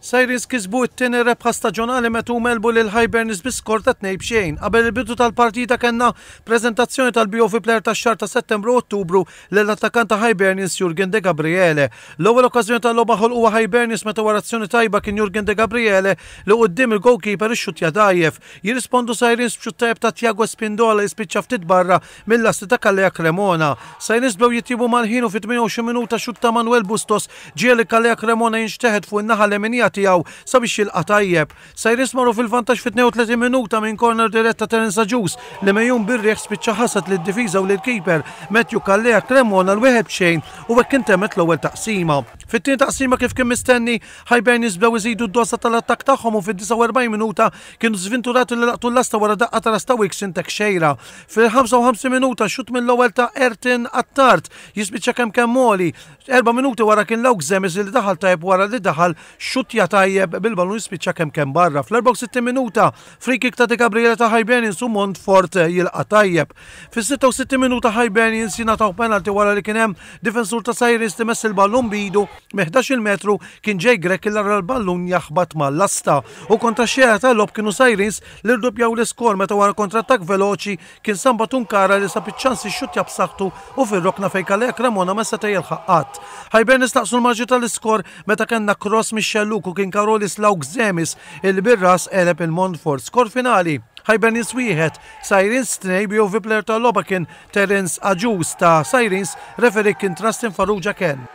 Sirens kisbu t-tieni rebħa staġonali meta huma għelbu lil Hibernians bi skor ta' 2-0. Qabel il-bidu tal-partita kellna preżentazzjoni tal-BOV Player tax-xahar ta' Settembru u Ottubru lill-attakkant ta' Hibernians Jurgen De Gabriele. L-ewwel okkażjoni tal-logħba ħolquha Hibernians meta wara azzjoni tajba kien Jurgen De Gabriele li quddiem il-goalkeeper ixxuttja dgħajjef. Jirrispondu Sirens b'xutt tajjeb ta' Thiago Espindola li spiċċa ftit barra mil-lasti ta' Calleja Cremona. Sirens bdew jitjiebu mal-ħin u fit-28 minuta xutt ta' Manuel Bustos ġiegħel lil Calleja Cremona jinxteħet fuq in-naħa leminija tiegħu sabiex jilqa' tajjeb. Sirens marru fil-vantaġġ fit-32 minuta minn corner dirett ta' Terence Agius li megħjun bir-riħ spiċċa ħasad lid-difiża u lill-keeper Matthew Calleja Cremona l-1-0 u hekk intemmet l-ewwel taqsima. Fit-tieni taqsima kif kien mistenni, Hibernians bdew iżidu d-doża tal-attakk tagħhom u fid-49 minuta kienu żvinturati li laqtu l-lasta wara daqqa ta' ras ta' Wilkson Teixeira. Fil-55 minuta xutt mill-ewwel ta' Ayrton Attard jispiċċa kemm kemm għoli. Erba' minuti wara kien Lauk Zemes li daħal tajjeb wara li daħal xuttja tajjeb bil-ballun jispiċċa kemm kemm barra. Fl-64 minuta free kick ta' De Gabriele ta' Hibernians u Montfort jilqa' tajjeb. Fis-66 minuta Hibernians jingħataw penalty wara li kien hemm difensur ta' Sirens li mess il-ballun b'idu minn 11-il metru kien Jake Grech li ra l-ballun jaħbat mal-lasta. U kontra x-xejra tal-logħob kienu Sirens li rduppjaw l-iskor meta wara kontrattakk veloċi kien Samba Tunkara li sab iċ-ċans jixxuttja b'saħħtu u fir-rokna fejn Kalea Cremona ma seta' jilħaq qatt. Hibernians naqsu l-marġni tal-iskor meta kellna cross mix-xellug u kien Karolis Laukzemis illi bir-ras għeleb il-Montfort. Skor finali, Hibernians 1, Sirens 2 BOV player tal-logħba kien Terence Agius ta' Sirens, referee kien Trustin Farrugia Ken.